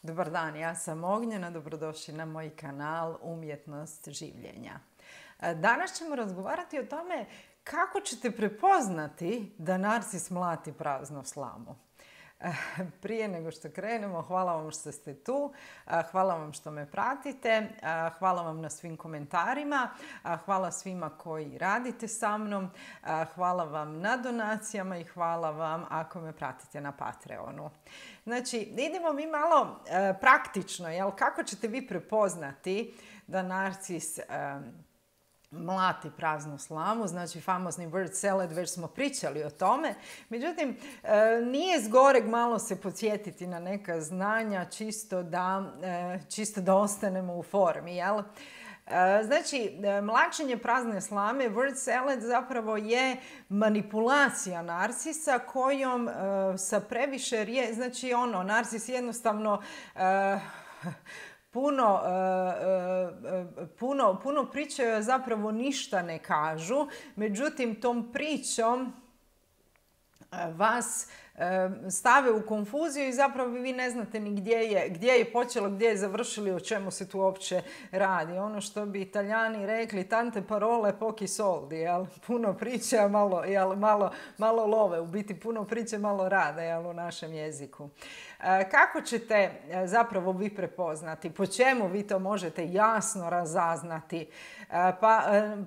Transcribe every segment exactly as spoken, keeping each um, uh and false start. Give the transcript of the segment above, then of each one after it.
Dobar dan, ja sam Ognjena, dobrodošli na moj kanal Umjetnost življenja. Danas ćemo razgovarati o tome kako ćete prepoznati da narcis mlati praznu slamu. Prije nego što krenemo, hvala vam što ste tu, hvala vam što me pratite, hvala vam na svim komentarima, hvala svima koji radite sa mnom, hvala vam na donacijama i hvala vam ako me pratite na Patreonu. Znači, idemo mi malo praktično, jel? Kako ćete vi prepoznati da narcis mlati praznu slamu, znači famozni word salad, već smo pričali o tome. Međutim, nije zgoreg malo se podsjetiti na neka znanja čisto da, čisto da ostanemo u formi, jel? Znači, mlačenje prazne slame, word salad, zapravo je manipulacija narcisa kojom sa previše riječi, znači ono, narcis jednostavno Puno, puno, puno pričaju, zapravo ništa ne kažu, međutim tom pričom vas stave u konfuziju i zapravo vi ne znate ni gdje je, gdje je počelo, gdje je završili, o čemu se tu uopće radi. Ono što bi Italijani rekli, tante parole pochi soldi, jel? Puno priče, malo, jel? malo, malo love, u biti puno priče, malo rada, jel? U našem jeziku. Kako ćete zapravo vi prepoznati? Po čemu vi to možete jasno razaznati? Pa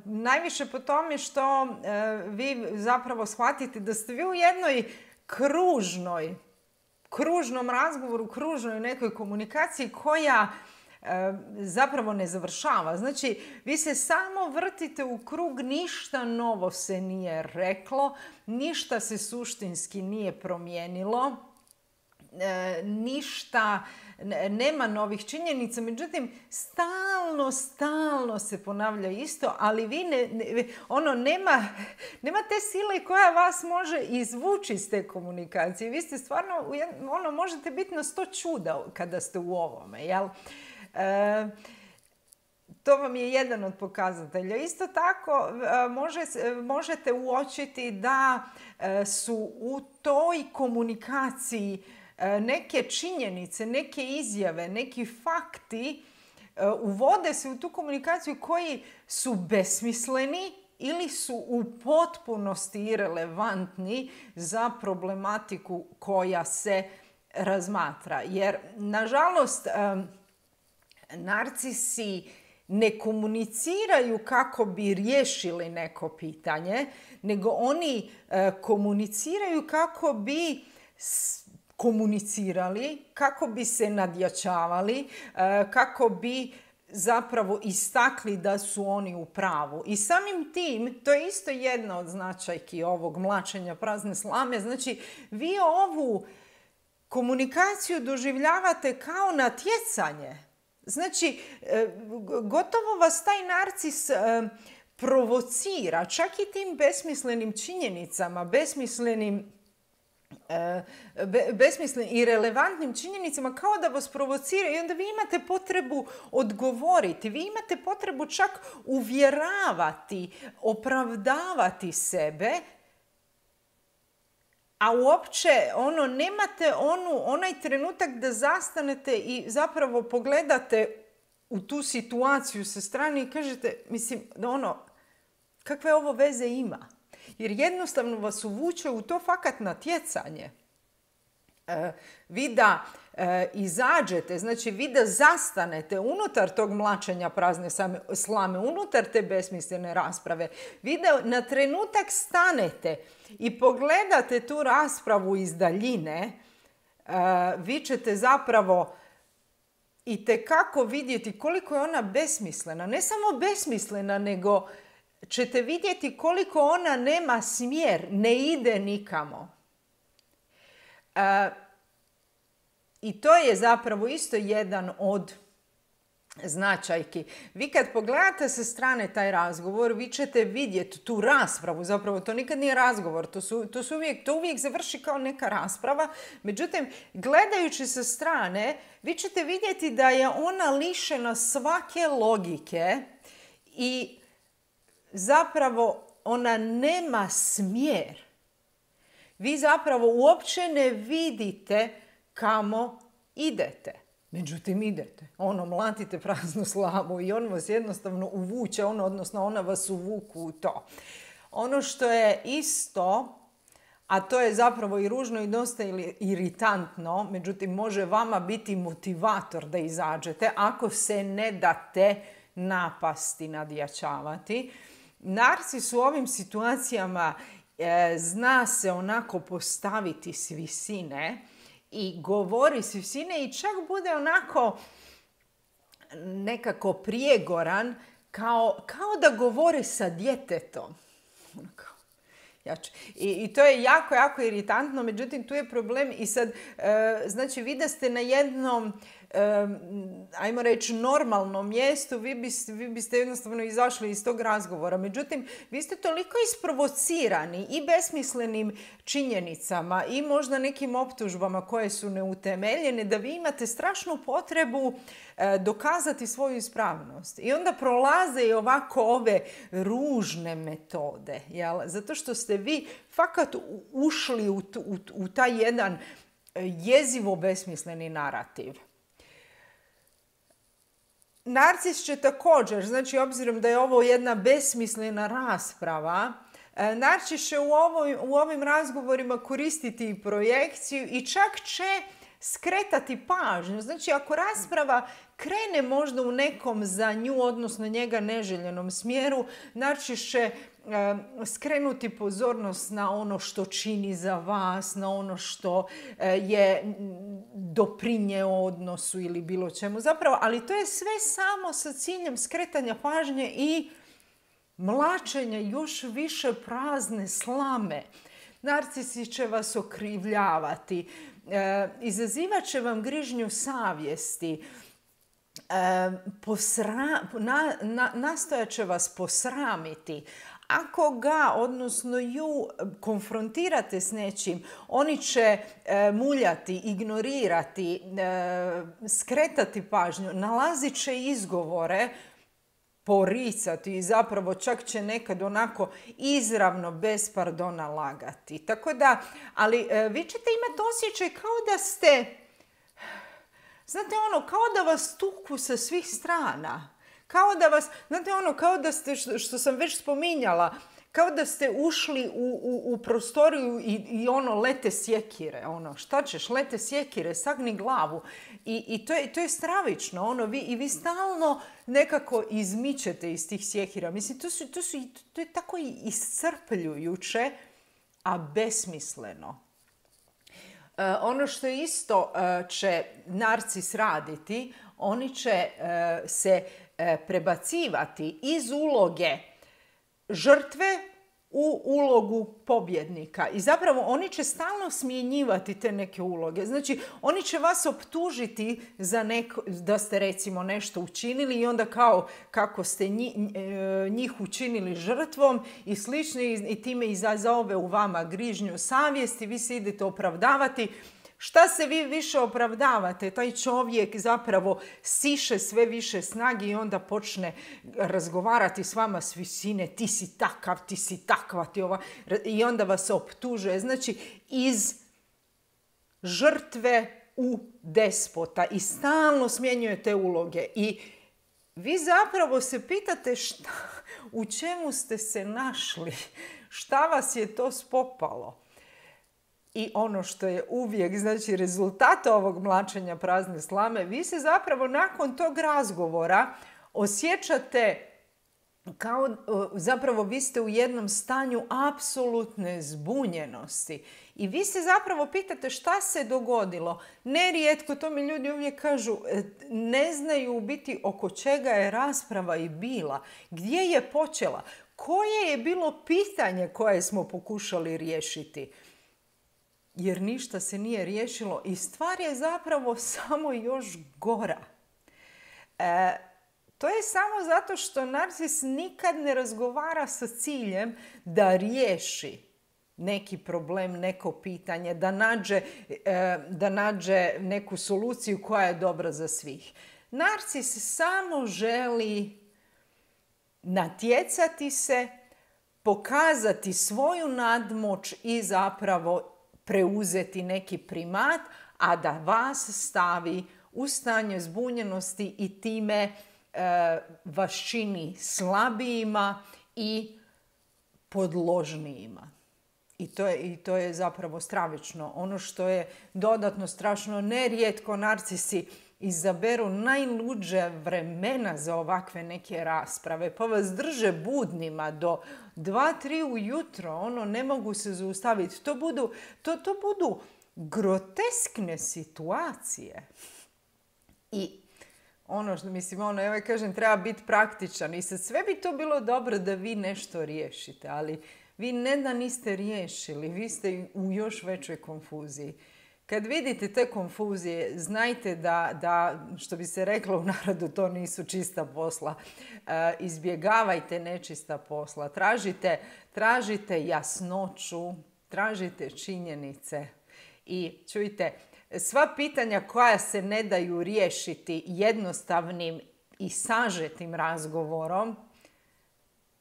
najviše po tome što vi zapravo shvatite da ste vi u jednoj kružnoj, kružnom razgovoru, kružnoj nekoj komunikaciji koja e, zapravo ne završava. Znači, vi se samo vrtite u krug, ništa novo se nije reklo, ništa se suštinski nije promijenilo, e, ništa, nema novih činjenica, međutim, stalno, stalno se ponavlja isto, ali vi ne, ne, ono, nema, nema te sile koja vas može izvući iz te komunikacije. Vi ste stvarno, ono, možete biti na sto čuda kada ste u ovome, jel? E, to vam je jedan od pokazatelja. Isto tako može, možete uočiti da su u toj komunikaciji neke činjenice, neke izjave, neki fakti uvode se u tu komunikaciju koji su besmisleni ili su u potpunosti irelevantni za problematiku koja se razmatra. Jer, nažalost, narcisi ne komuniciraju kako bi riješili neko pitanje, nego oni komuniciraju kako bi komunicirali, kako bi se nadjačavali, kako bi zapravo istakli da su oni u pravu. I samim tim, to je isto jedna od značajki ovog mlačenja prazne slame, znači vi ovu komunikaciju doživljavate kao natjecanje. Znači, gotovo vas taj narcis provocira, čak i tim besmislenim činjenicama, besmislenim besmislenim i relevantnim činjenicama, kao da vas provociraju i onda vi imate potrebu odgovoriti, vi imate potrebu čak uvjeravati, opravdavati sebe, a uopće ono, nemate onu, onaj trenutak da zastanete i zapravo pogledate u tu situaciju sa strane i kažete, mislim, ono, kakve ovo veze ima? Jer jednostavno vas uvuče u to fakat natjecanje. E, vi da e, izađete, znači vi da zastanete unutar tog mlačenja prazne slame, unutar te besmislene rasprave, vi da na trenutak stanete i pogledate tu raspravu iz daljine, e, vi ćete zapravo itekako vidjeti koliko je ona besmislena. Ne samo besmislena, nego ćete vidjeti koliko ona nema smjer, ne ide nikamo. E, I to je zapravo isto jedan od značajki. Vi kad pogledate sa strane taj razgovor, vi ćete vidjeti tu raspravu, zapravo to nikad nije razgovor, to, su, to, su uvijek, to uvijek završi kao neka rasprava, međutim, gledajući sa strane, vi ćete vidjeti da je ona lišena svake logike i zapravo ona nema smjer. Vi zapravo uopće ne vidite kamo idete. Međutim, idete, ono, mlatite praznu slamu i on vas jednostavno uvuče, ono, odnosno ona vas uvuku u to. Ono što je isto, a to je zapravo i ružno i dosta iritantno, međutim, može vama biti motivator da izađete ako se ne date napasti, nadjačavati. Narcis u ovim situacijama e, zna se onako postaviti s visine i govori s visine i čak bude onako nekako prijegoran, kao, kao da govori sa djetetom. I, I to je jako, jako iritantno, međutim tu je problem i sad, e, znači vi da ste na jednom, e, ajmo reći, normalnom mjestu, vi biste, vi biste jednostavno izašli iz tog razgovora. Međutim, vi ste toliko isprovocirani i besmislenim činjenicama i možda nekim optužbama koje su neutemeljene, da vi imate strašnu potrebu e, dokazati svoju ispravnost. I onda prolaze i ovako ove ružne metode, jel? Zato što ste vi fakat ušli u, u, u taj jedan jezivo besmisleni narativ. Narcis će također, znači obzirom da je ovo jedna besmislena rasprava, Narcis će u, ovoj, u ovim razgovorima koristiti i projekciju i čak će skretati pažnju. Znači ako rasprava krene možda u nekom za nju, odnosno njega neželjenom smjeru, Narcis će e, skrenuti pozornost na ono što čini za vas, na ono što e, je doprinjeo odnosu ili bilo čemu. Zapravo, ali to je sve samo sa ciljem skretanja pažnje i mlačenja još više prazne slame. Narcisi će vas okrivljavati, e, izazivat će vam grižnju savjesti, e, posra, na, na, nastojat će vas posramiti. Ako ga, odnosno ju, konfrontirate s nečim, oni će e, muljati, ignorirati, e, skretati pažnju, nalazit će izgovore, poricati i zapravo čak će nekad onako izravno bez pardona lagati. Tako da, ali e, vi ćete imati osjećaj kao da ste, znate ono, kao da vas tuku sa svih strana. Kao da vas, znate ono, kao da ste, što, što sam već spominjala, kao da ste ušli u, u, u prostoriju i, i ono, lete sjekire. Ono, šta ćeš, lete sjekire, sagni glavu. I, i to, je, to je stravično. Ono, vi, i vi stalno nekako izmičete iz tih sjekira. Mislim, to, su, to, su, to je tako iscrpljujuće, a besmisleno. E, ono što isto e, će Narcis raditi, oni će e, se e, prebacivati iz uloge žrtve u ulogu pobjednika. I zapravo oni će stalno smjenjivati te neke uloge. Znači, oni će vas optužiti za neko, da ste recimo nešto učinili i onda kao kako ste njih, njih učinili žrtvom i slično i time izazove u vama grižnju savjesti, vi se idete opravdavati. Šta se vi više opravdavate? Taj čovjek zapravo siše sve više snage i onda počne razgovarati s vama s visine. Ti si takav, ti si takva, ti ova. I onda vas optužuje. Znači, iz žrtve u despota i stalno smjenjuje te uloge. I vi zapravo se pitate šta, u čemu ste se našli, šta vas je to spopalo. I ono što je uvijek, znači, rezultat ovog mlačenja prazne slame, vi se zapravo nakon tog razgovora osjećate kao, zapravo vi ste u jednom stanju apsolutne zbunjenosti. I vi se zapravo pitate šta se dogodilo. Nerijetko, to mi ljudi uvijek kažu, ne znaju u biti oko čega je rasprava i bila. Gdje je počela? Koje je bilo pitanje koje smo pokušali riješiti? Jer ništa se nije riješilo i stvar je zapravo samo još gora. E, to je samo zato što Narcis nikad ne razgovara sa ciljem da riješi neki problem, neko pitanje, da nađe, e, da nađe neku soluciju koja je dobra za svih. Narcis samo želi natjecati se, pokazati svoju nadmoć i zapravo preuzeti neki primat, a da vas stavi u stanje zbunjenosti i time e, vas čini slabijima i podložnijima. I to, je, I to je zapravo stravično. Ono što je dodatno strašno, nerijetko narcisi izaberu najluđe vremena za ovakve neke rasprave, pa vas drže budnima do dva tri ujutro, ono, ne mogu se zaustaviti. To budu, to, to budu groteskne situacije. I ono što mislim, ono, ja kažem, treba biti praktičan i sad sve bi to bilo dobro da vi nešto riješite, ali vi ne da niste riješili, vi ste u još većoj konfuziji. Kad vidite te konfuzije, znajte da, da što bi se reklo u narodu, to nisu čista posla. E, izbjegavajte nečista posla. Tražite, tražite jasnoću, tražite činjenice. I čujte, sva pitanja koja se ne daju riješiti jednostavnim i sažetim razgovorom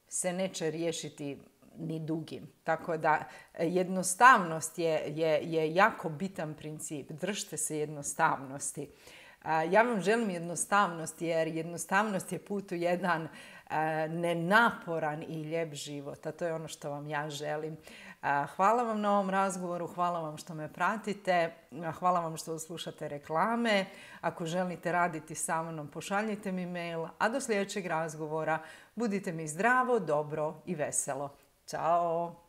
se neće riješiti ni dugim. Tako da jednostavnost je, je, je jako bitan princip. Držite se jednostavnosti. Ja vam želim jednostavnost jer jednostavnost je put u jedan nenaporan i lijep život. A to je ono što vam ja želim. Hvala vam na ovom razgovoru, hvala vam što me pratite, hvala vam što slušate reklame. Ako želite raditi sa mnom, pošaljite mi mail, a do sljedećeg razgovora budite mi zdravo, dobro i veselo. Ćao!